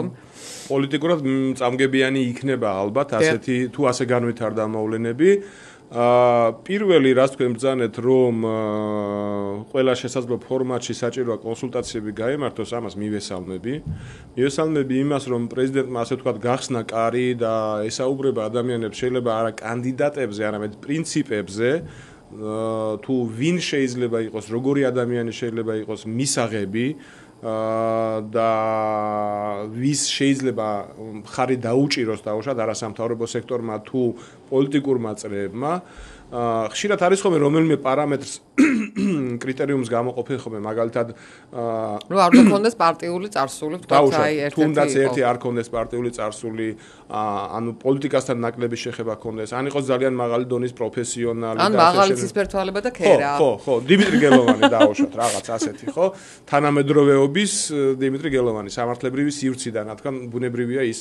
პოლიტიკურად წამგებიანი იქნება ალბათ, ასეთი თუ ასე განვითარდა მოვლენები. პირველი რაც თქვენ ბრძანეთ, რომ ყველა შესაძლო ფორმატში საჭიროა კონსულტაციები გაემართოს, ამას მივესალმები. მივესალმები იმას, რომ პრეზიდენტმა ასე ვთქვათ გახსნა კარი და ესაუბრება ადამიანებს შეიძლება არა კანდიდატებზე, არამედ პრინციპებზე. თუ ვინ შეიძლება იყოს, როგორი ადამიანი შეიძლება იყოს მისაღები და ვის შეიძლება მხარი დაუჭიროს დაუშვათ არასამთავრობო სექტორმა თუ პოლიტიკურმა წრეებმა. ხშირად არის ხოლმე რომელიმე პარამეტრს კრიტერიუმს გამოყოფენ ხოლმე მაგალითად რომ არ გქონდეს პარტიული წარსული, თქვათ, აი ერთ-ერთი თუნდაც ერთი არ გქონდეს პარტიული წარსული, ანუ პოლიტიკასთან ნაკლები შეხება გქონდეს, ან იყოს ძალიან მაღალი დონის პროფესიონალი და ან მაღალი ცისფერთვალება და ქერა. ხო, დიმიტრი გელოვანი დაუშვათ რაღაც ასეთი, ხო? თანამედროვეობის დიმიტრი გელოვანი სამართლებრივი სივრციდან, რა თქმა უნდა, ბუნებრივია ის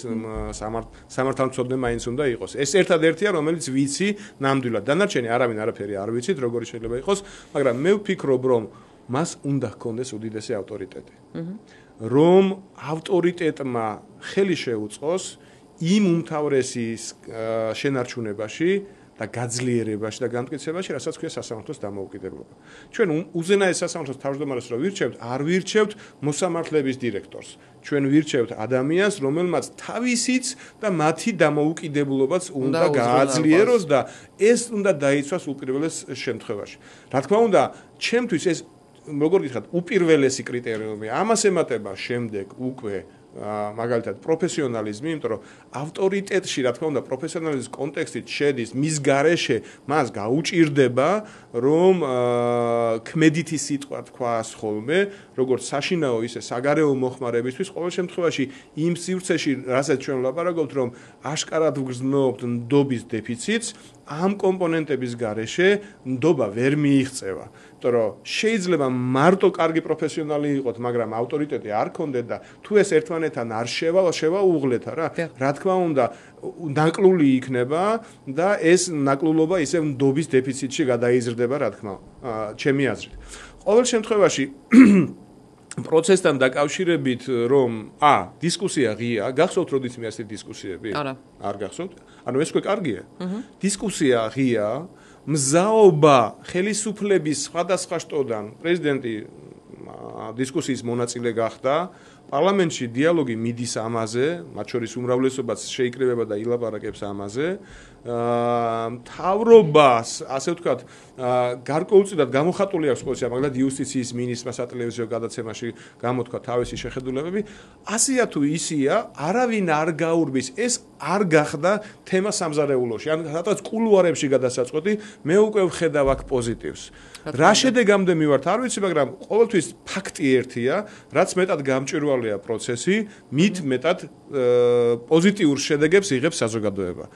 სამართალმცოდნე მაინც უნდა იყოს. ეს ერთადერთია, რომელიც ვიცი ნამდვილად. დანარჩენი არავინ არაფერი არ ვიცით, როგორი შეიძლება იყოს, მაგრამ მე ვფიქრობ, რომ მას უნდა ჰქონდეს უდიდესი ავტორიტეტი. რომ ავტორიტეტმა ხელი შეუწყოს იმ უმთავრესის შენარჩუნებაში და გაძლიერებაში და განმტკიცებაში, რასაც ქვია სასამართლოს დამოუკიდებლობა. ჩვენ უზენაეს სასამართლოს თავმჯდომარეს რო ვირჩევთ, არ ვირჩევთ მოსამართლეების დირექტორს. ჩვენ ვირჩევთ ადამიანს, რომელმაც თავისიც და მათი დამოუკიდებლობაც უნდა გააძლიეროს და ეს უნდა დაიცვას უპირველეს შემთხვევაში. რა თქმა უნდა, ჩემთვის ეს როგორ გითხრათ, უპირველესი კრიტერიუმი. ამას ემატება შემდეგ უკვე მაგალითად პროფესიონალიზმი, იმიტომ რომ ავტორიტეტში, რა თქმა უნდა, პროფესიონალიზმის კონტექსტით შედის მის გარეშე მას გაუჭირდება, რომ ქმედითი სიტყვა თქვას ხოლმე, როგორც საშინაო, ისე საგარეო მოხმარებისთვის, ყოველ შემთხვევაში იმ სივრცეში, რასაც ჩვენ ვლაპარაკობთ, რომ აშკარად ვგრძნობთ ნდობის დეფიციტს, ამ კომპონენტების გარეშე ნდობა ვერ მიიღწევა. იმიტომ რომ შეიძლება მარტო კარგი პროფესიონალი იყოთ, მაგრამ ავტორიტეტი არ ქონდეთ და თუ ეს ერთმანეთთან არ შევაუღლეთ რა, რა თქმა უნდა, ნაკლული იქნება და ეს ნაკლულობა ისე ნდობის დეფიციტში გადაიზრდება, რა თქმა უნდა, ჩემი აზრით. ყოველ შემთხვევაში პროცესთან დაკავშირებით, რომ დისკუსია ღია, გახსოვთ როდის მე ასეთი დისკუსიები? არ გახსოვთ? ანუ ეს უკვე კარგია. დისკუსია ღია, მზაობა ხელისუფლების სხვადასხვა შტოდან პრეზიდენტი დისკუსიის მონაწილე გახდა, პარლამენტში დიალოგი მიდის ამაზე, მათ შორის უმრავლესობაც შეიკრიბება და ილაპარაკებს ამაზე. მთავრობას, ასე ვთქვათ, გარკვეულწილად გამოხატული აქვს პოზიცია, მაგალითად იუსტიციის მინისტრმა სატელევიზიო გადაცემაში გამოთქვა თავისი შეხედულებები. ასია თუ ისია, არავინ არ გაურბის, ეს არ გახდა თემა სამზარეულოში. ან სადღაც კულუარებში გადასაწყვეტი, მე უკვე ვხედავ აქ პოზიტივს. რა შედეგამდე მივართ, არ ვიცი, მაგრამ ყოველთვის ფაქტი ერთია, რაც მეტად გამჭვირვალეა პროცესი, მით მეტად პოზიტიურ შედეგებს იღებს საზოგადოება.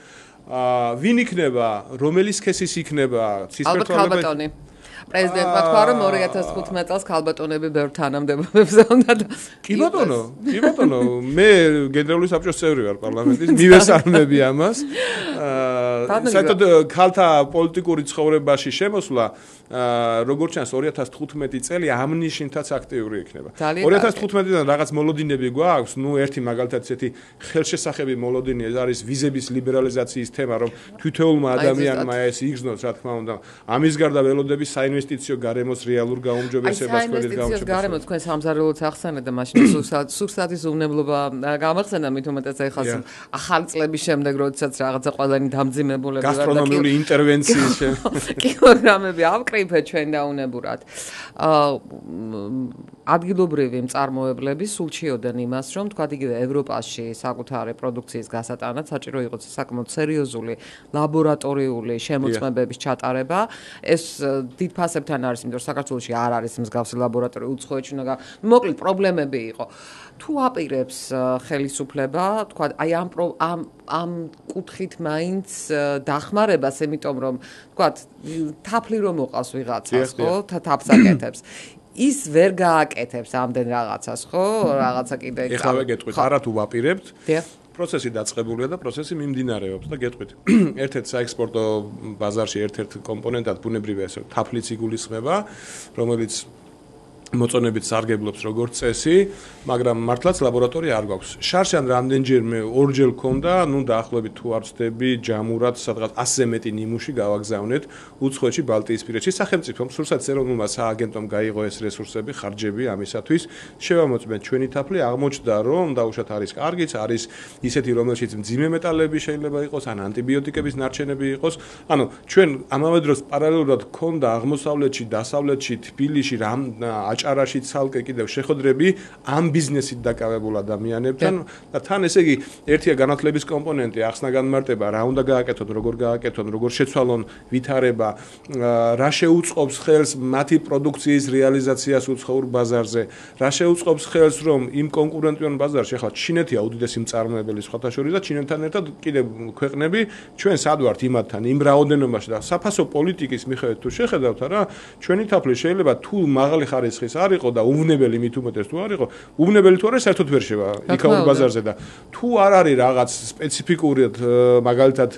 ვინ იქნება, რომელი სქესის იქნება, ცისფერთვალებად? ალბათ პრეზიდენტმა თქვა, რომ 2015 წელს ქალბატონები ბევრ თანამდებობებზე უნდა და კი ბატონო, მე გენერალური საბჭოს წევრი ვარ პარლამენტის, მივესალმები ამას. საერთოდ ქალთა პოლიტიკური ცხოვრებაში შემოსვლა როგორც ჩანს 2015 წელი ამ ნიშნითაც აქტიური იქნება. 2015-დან რაღაც მოლოდინები გვაქვს, ერთი მაგალითად ესეთი ხელშესახები მოლოდინი არის ვიზების ლიბერალიზაციის თემა, რომ თითოეულმა ადამიანმა ეს იგრძნოს, რა თქმა უნდა. ამის გარდა ველოდების საინვესტიციო გარემოს რეალურ გაუმჯობესებას კვედით გაუმჯობესებას. გარემო თქვენ სამზარეულოც ახსენეთ და მაშინ სურსათის უვნებლობა გამახსენდა მით უმეტეს ეხლა ახალი წლების შემდეგ, როდესაც რაღაცა ყველანი დამძიმებულები ვარ და გასტრონომიული ინტერვენციის კილოგრამები ავკრიფეთ ჩვენ დაუნებურად. ადგილობრივი მწარმოებლები სულ ჩიოდნენ იმას, რომ თქვა იგივე ევროპაში საკუთარი პროდუქციის გასატანად საჭირო იყოს საკმაოდ სერიოზული ლაბორატორიული შემოწმებების ჩატარება. ეს დიდ ფასებთან არის, იმიტომ რომ საქართველოში არ არის მსგავსი ლაბორატორია უცხოეთში უნდა მოკლედ პრობლემები იყო. თუ აპირებს ხელისუფლება, თქვა აი ამ კუთხით მაინც დახმარებას, იმიტომ რომ თქვა თაფლი რომ მოყავს ვიღაცას, ხო, თაფს აკეთებს. ის ვერ გააკეთებს ამდენ რაღაცას, ხო? რაღაცა კიდე ეხლა გეტყვით, არა თუ ვაპირებთ. პროცესი დაწყებულია და პროცესი მიმდინარეობს და გეტყვით. ერთ-ერთ საექსპორტო ბაზარში ერთ-ერთ კომპონენტად ბუნებრივია ეს თაფლიც იგულისხმება, რომელიც მოწონებით სარგებლობს როგორც წესი, მაგრამ მართლაც ლაბორატორია არ გვაქვს. შარშან რამდენჯერმე ორჯერ მქონდა, დაახლოებით თუ არ ვცდები, ჯამურად სადღაც 100-ზე მეტი ნიმუში გავაგზავნეთ უცხოეთში, ბალტიისპირეთში. სახელმწიფომ, სურსათ ეროვნულმა სააგენტომ გაიღო ეს რესურსები, ხარჯები ამისათვის. შევამოწმეთ ჩვენი თაფლი, აღმოჩნდა, რომ დაუშვათ არის კარგიც, არის ისეთი, რომელშიც მძიმე მეტალები შეიძლება იყოს, ან ანტიბიოტიკების ნარჩენები იყოს. ანუ ჩვენ ამავე დროს პარალელურად მქონდა აღმოსავლეთში, დასავლეთში, თბილისში აჭარაში ცალკე კიდევ შეხვედრები ამ ბიზნესით დაკავებულ ადამიანებთან და თან ესე იგი ერთია განათლების კომპონენტი, ახსნა განმარტება, რა უნდა გააკეთოთ, როგორ გააკეთოთ, როგორ შეცვალონ ვითარება, რა შეუწყობს ხელს მათი პროდუქციის რეალიზაციას უცხოურ ბაზარზე, რა შეუწყობს ხელს რომ იმ კონკურენტიულ ბაზარში, ახლა ჩინეთია უდიდესი მწარმოებელი სხვათა შორის და ჩინეთთან ერთად კიდევ ქვეყნები ჩვენ სად ვართ იმათთან, იმ რაოდენობაში და საფასო პოლიტიკის მიხედვით თუ შეხედავთ რა, ჩვენი თაფლი შეიძლება თუ მაღალი ხარისხის არ იყო და უვნებელი მით უმეტეს თუ არ იყო, უვნებელი თუ არა საერთოდ ვერ შევა იქაურ ბაზარზე და თუ არ არის რაღაც სპეციფიკურად მაგალითად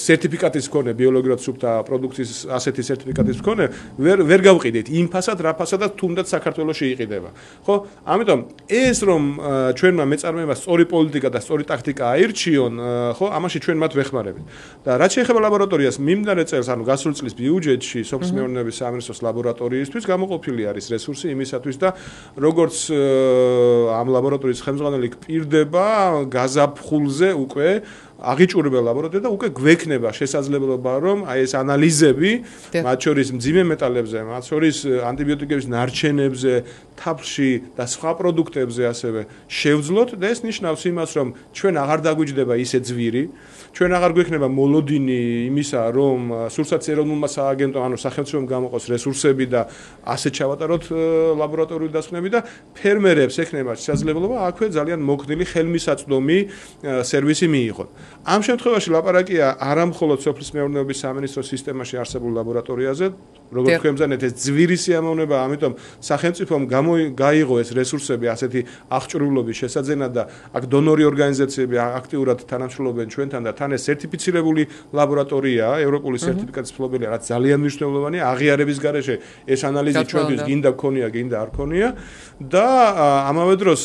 სერტიფიკატის მქონე ბიოლოგიურად სუფთა პროდუქციის ასეთი სერტიფიკატის მქონე ვერ გავყიდეთ იმ ფასად რა ფასადაც თუნდაც საქართველოში იყიდება. ხო? ამიტომ ეს რომ ჩვენმა მეწარმეებმა სწორი პოლიტიკა და სწორი ტაქტიკა აირჩიონ, ხო, ამაში ჩვენ მათ ვეხმარებით. და რაც შეეხება ლაბორატორიას, მიმდინარე წელს, ანუ გასული წლის ბიუჯეტში სოფლის მეურნეობის სამინისტროს ლაბორატორიისთვის გამოყოფილი არის რესურსი იმისათვის და როგორც ამ ლაბორატორიის ხელმძღვანელი გპირდება გაზაფხულზე უკვე აღიჭურებელ ლაბორატორია და უკვე გვექნება შესაძლებლობა რომ აი ეს ანალიზები მათ შორის მძიმე მეტალებზე, მათ შორის ანტიბიოტიკების ნარჩენებზე, თაფლში და სხვა პროდუქტებზე ასევე შევძლოთ და ეს ნიშნავს იმას რომ ჩვენ აღარ დაგვიჯდება ისე ძვირი, ჩვენ აღარ გვექნება მოლოდინი იმისა რომ სურსათის ეროვნულმა სააგენტომ ანუ სახელმწიფომ გამოყოს რესურსები და ასე ჩავატაროთ ლაბორატორიული დასკვნები და ფერმერებს ექნება შესაძლებლობა აქვე ძალიან მოქნილი ხელმისაწვდომი სერვისი მიიღონ. ამ შემთხვევაში ლაპარაკია არა მხოლოდ სოფლის მეურნეობის სამინისტროს სისტემაში არსებულ ლაბორატორიაზე, როგორც თქვენ მზანეთ ეს ძვირი სიამოვნება, ამიტომ სახელმწიფომ გაიღო ეს რესურსები ასეთი აღჭურვილობის შესაძენად და აქ დონორი ორგანიზაციები აქტიურად თანამშრომლობენ ჩვენთან და თან ეს სერტიფიცირებული ლაბორატორიაა, ევროპული სერტიფიკატის ფლობელია, რაც ძალიან მნიშვნელოვანია აღიარების გარეშე ეს ანალიზი ჩვენთვის გინდა გქონია, გინდა არ გქონია და ამავე დროს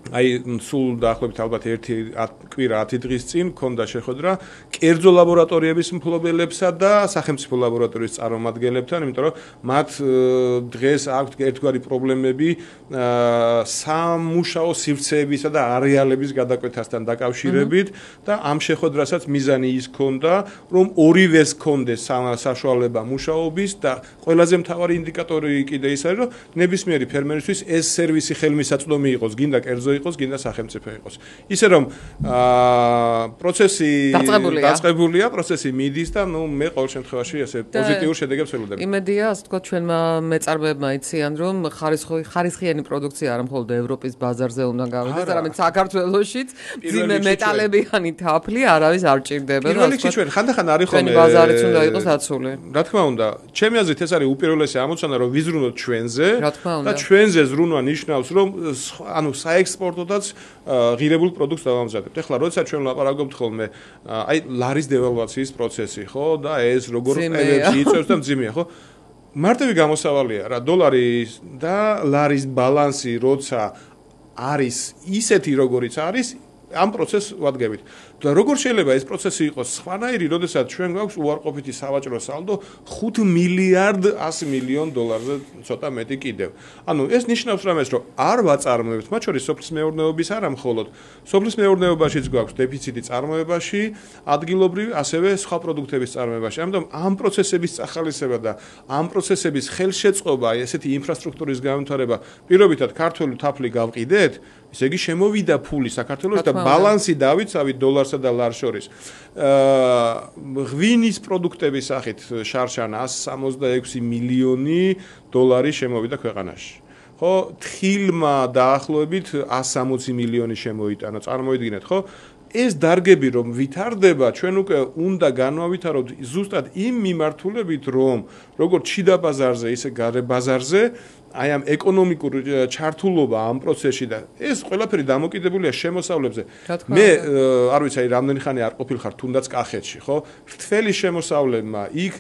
აი სულ დაახლოებით ალბათ 1 კვირა 10 დღის წინ მქონდა შეხვედრა კერძო ლაბორატორიების მფლობელებსა და სახელმწიფო ლაბორატორიის წარმომადგენლებთან, იმიტომ რომ მათ დღეს აქვთ ერთგვარი პრობლემები სამუშაო სივრცეებისა და არეალების გადაკვეთასთან დაკავშირებით და ამ შეხვედრასაც მიზანი ის ჰქონდა, რომ ორივეს ჰქონდეს საშუალება მუშაობის და ყველაზე მთავარი ინდიკატორი კიდე ის არის, რომ ნებისმიერი ფერმერისთვის ეს სერვისი ხელმისაწვდომი იყოს, გინდა კერძო იყოს, გინდა სახელმწიფო იყოს. ისე რომ პროცესი დაწყებულია, პროცესი მიდის და მე ყოველ შემთხვევაში ესე პოზიტიურ შედეგებს ველოდები. იმედია, ასე თქვა ჩვენმა მეწარმეებმა იციან, რომ ხარისხიანი პროდუქცია არა მხოლოდ ევროპის ბაზარზე უნდა გავიდეს, არამედ საქართველოშიც ძიმე მეტალებიანი თაფლი არავის არ ჭირდება. პირველ რიგში ჩვენ ხანდახან არის ხოლმე ჩვენი ბაზარიც უნდა იყოს აცული. რა თქმა უნდა, ჩემი აზრით ეს არის უპირველესი ამოცანა, რომ ვიზრუნოთ ჩვენზე და ჩვენზე ზრუნვა ნიშნავს, რომ ანუ საექსპორტოდაც ღირებულ პროდუქტს დავამზადებთ. ეხლა როდესაც ჩვენ ვლაპარაკობთ ხოლმე აი ლარის დევალვაციის პროცესი, ხო, და ეს როგორ ყევებში იწევს და მძიმეა, ხო? მარტივი გამოსავალია რა, დოლარი და ლარის ბალანსი როცა არის ისეთი როგორიც არის, ამ პროცესს ვადგებით. და როგორ შეიძლება ეს პროცესი იყოს სხვანაირი, როდესაც ჩვენ გვაქვს უარყოფითი სავაჭრო სალდო 5 მილიარდ 100 მილიონ დოლარზე ცოტა მეტი კიდევ. ანუ ეს ნიშნავს რამეს, რომ არ ვაწარმოებთ, მათ შორის სოფლის მეურნეობის არა მხოლოდ. სოფლის მეურნეობაშიც გვაქვს დეფიციტი წარმოებაში, ადგილობრივი, ასევე სხვა პროდუქტების წარმოებაში. ამიტომ ამ პროცესების წახალისება და ამ პროცესების ხელშეწყობა, ესეთი ინფრასტრუქტურის განვითარება, პირობითად ქართული თაფლი გავყიდეთ, ისე იგი შემოვიდა ფული საქართველოს და ბალანსი დავიცავით დოლარსა და ლარს შორის. ღვინის პროდუქტების სახით შარშან 166 მილიონი დოლარი შემოვიდა ქვეყანაში. ხო, თხილმა დაახლოებით 160 მილიონი შემოიტანა, წარმოიდგინეთ, ხო? ეს დარგები რომ ვითარდება, ჩვენ უკვე უნდა განვავითაროთ ზუსტად იმ მიმართულებით, რომ როგორც შიდა ბაზარზე, ისე გარე ბაზარზე აი ამ ეკონომიკურ ჩართულობა ამ პროცესში და ეს ყველაფერი დამოკიდებულია შემოსავლებზე. მე არ ვიცი, აი რამდენი ხანი არ ყოფილხარ თუნდაც კახეთში, ხო? რთველი შემოსავლებმა იქ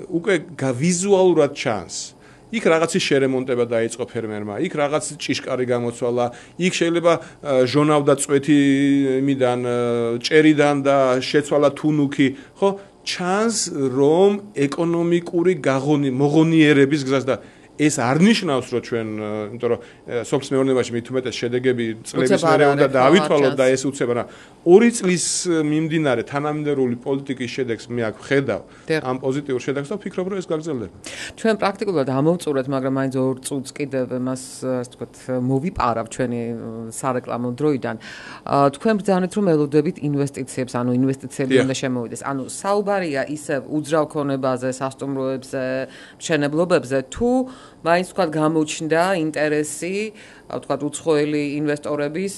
უკვე ვიზუალურად ჩანს. იქ რაღაცის შერემონტება დაიწყო ფერმერმა, იქ რაღაც ჭიშკარი გამოცვალა, იქ შეიძლება ჟონავდა წვეთი იმიდან, ჭერიდან და შეცვალა თუნუქი, ხო? ჩანს რომ ეკონომიკური მოღონიერების გზას და ეს არ ნიშნავს, რომ ჩვენ, იმიტომ რომ სოფლის მეურნეობაში მით უმეტეს შედეგები წლების მერე უნდა დაავითვალოთ და ეს უცებ, რა 2 წლის მიმდინარე თანამედროვე პოლიტიკის შედეგს მე აქ ვხედავ ამ პოზიტიურ შედეგს და ვფიქრობ, რომ ეს გაგრძელდება. ჩვენ პრაქტიკულად ამოვწურეთ, მაგრამ მაინც 2 წუთს კიდევ მას, ასე ვთქვათ, მოვიპარავ ჩვენი სარეკლამო დროიდან. თქვენ ბრძანეთ, რომ ელოდებით ინვესტიციებს, ანუ ინვესტიციები უნდა შემოვიდეს. ანუ საუბარია ისევ უძრავ ქონებაზე, სასტუმროებზე, მშენებლობებზე, თუ მაინც თქვა გამოჩნდა ინტერესი, თქვა უცხოელი ინვესტორების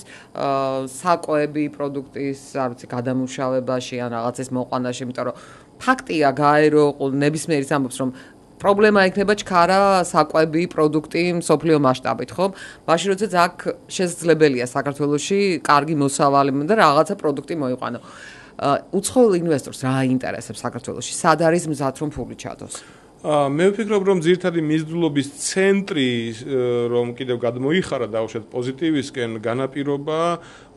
საკვები პროდუქტის, არ ვიცი, გადამუშავებაში ან რაღაცის მოყვანაში, იმიტომ რომ ფაქტია გაერო ნებისმიერის ამბობს, რომ პრობლემა იქნება ჩქარა საკვები პროდუქტი მსოფლიო მასშტაბით, ხო? მაშინ როდესაც აქ შესაძლებელია საქართველოში კარგი მოსავალი და რაღაცა პროდუქტი მოიყვანო. უცხოელ ინვესტორს რა აინტერესებს საქართველოში? სად არის მზად რომ ფული ჩადოს? მე ვფიქრობ, რომ ძირითადი მიზიდულობის ცენტრი, რომ კიდევ გადმოიხარა დაუშვათ პოზიტივისკენ, განაპირობა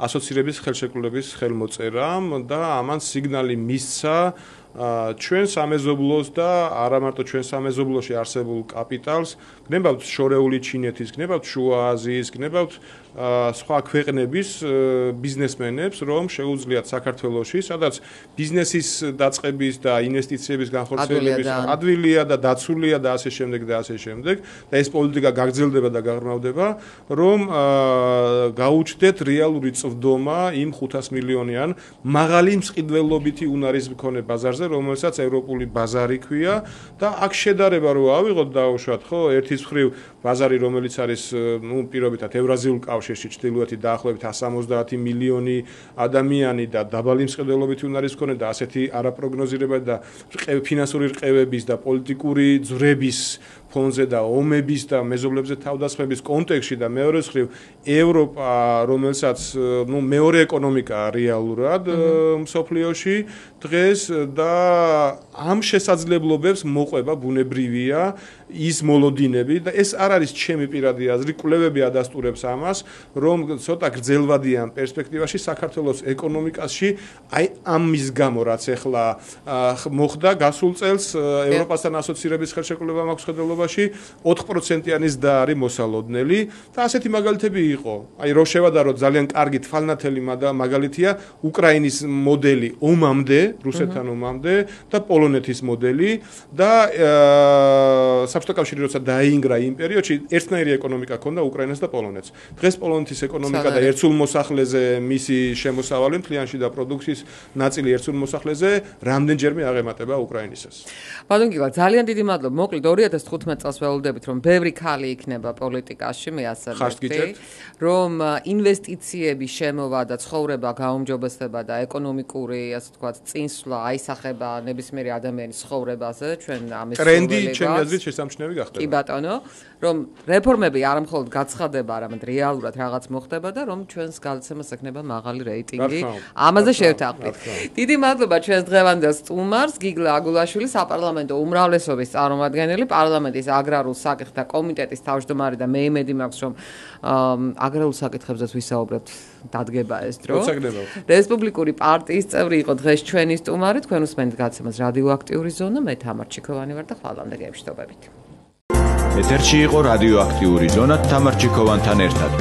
ასოცირების ხელშეკრულების ხელმოწერამ და ამან სიგნალი მისცა ჩვენ სამეზობლოს და არა მარტო ჩვენ სამეზობლოში არსებულ კაპიტალს, გნებავთ შორეული ჩინეთის, გნებავთ შუა აზიის, გნებავთ სხვა ქვეყნების ბიზნესმენებს, რომ შეუძლიათ საქართველოში, სადაც ბიზნესის დაწყების და ინვესტიციების განხორციელების ადვილია და დაცულია და ასე შემდეგ და ასე შემდეგ და ეს პოლიტიკა გაგრძელდება და გაღრმავდება, რომ გაუჩნდეთ რეალური წვდომა იმ 500 მილიონიან მაღალი მსყიდველობითი უნარის მქონე ბაზარზე, რომელსაც ევროპული ბაზარი ქვია და აქ შედარება რო ავიღოთ დაუშვათ, ხო, ერთის მხრივ ბაზარი, რომელიც არის, ნუ პირობითად ევრაზიულ კავშირში ჩრდილოეთი დაახლოებით 170 მილიონი ადამიანი და დაბალი მსყიდველობითი უნარის მქონე და ასეთი არაპროგნოზირებადი და ფინანსური რყევების და პოლიტიკური ძვრების ფონზე და ომების და მეზობლებზე თავდასხმების კონტექსტში და მეორე მხრივ ევროპა, რომელსაც ნუ მეორე ეკონომიკაა რეალურად მსოფლიოში დღეს და ამ შესაძლებლობებს მოყვება ბუნებრივია ის მოლოდინები და ეს არ არის ჩემი პირადი აზრი, კვლევები ადასტურებს ამას, რომ ცოტა გრძელვადიან პერსპექტივაში საქართველოს ეკონომიკაში აი ამის გამო რაც ახლა მოხდა გასულ წელს ევროპასთან ასოცირების ხელშეკრულება მაქვს ხედველობაში 4%-იანის და არის მოსალოდნელი და ასეთი მაგალითები იყო. აი რო შევადაროთ ძალიან კარგი თვალნათელი მაგალითია უკრაინის მოდელი ომამდე, რუსეთთან ომამდე და პოლონეთის მოდელი და საბჭოთა კავშირი როცა დაინგრა იმ პერიოდში ერთნაირი ეკონომიკა ჰქონდა უკრაინას და პოლონეთს. დღეს პოლონეთის ეკონომიკა და ერთსულ მოსახლეზე მისი შემოსავალი მთლიანში და პროდუქციის ნაწილი ერთსულ მოსახლეზე რამდენჯერმე აღემატება უკრაინისას. ბატონ გიგა, ძალიან დიდი მადლობა. მოკლედ 2015 წელს ველოდებით, რომ ბევრი ქალი იქნება პოლიტიკაში, მე ასე ვთქვი, რომ ინვესტიციების შემოვა და ცხოვრება გაუმჯობესება და ეკონომიკური, ასე ვთქვათ, წინსვლა აისახება ეხება ნებისმიერი ადამიანის ცხოვრებაზე, ჩვენ ამის ტრენდი ჩემი აზრით შესამჩნევი გახდება. კი ბატონო, რომ რეფორმები არ მხოლოდ გაცხადება, არამედ რეალურად რაღაც მოხდება და რომ ჩვენს გადაცემას ექნება მაღალი რეიტინგი. ამაზე შევთანხმდით. დიდი მადლობა ჩვენს დღევანდელ სტუმარს, გიგლა აგულაშვილი, საპარლამენტო უმრავლესობის წარმომადგენელი, პარლამენტის აგრარულ საკითხთა კომიტეტის თავმჯდომარე და მე იმედი მაქვს, რომ აგრარულ საკითხებზეც ვისაუბრებთ, დადგება ეს დრო. რესპუბლიკური პარტიის წევრი იყო დღეს ჩვენი სტუმარი, თქვენ უსმენთ გადაცემას რადიოაქტიური ზონა, მე თამარ ჩიქოვანი ვარ და ხვალამდე გემშვიდობებით. ეთერში იყო რადიოაქტიური ზონა თამარ ჩიქოვანთან ერთად.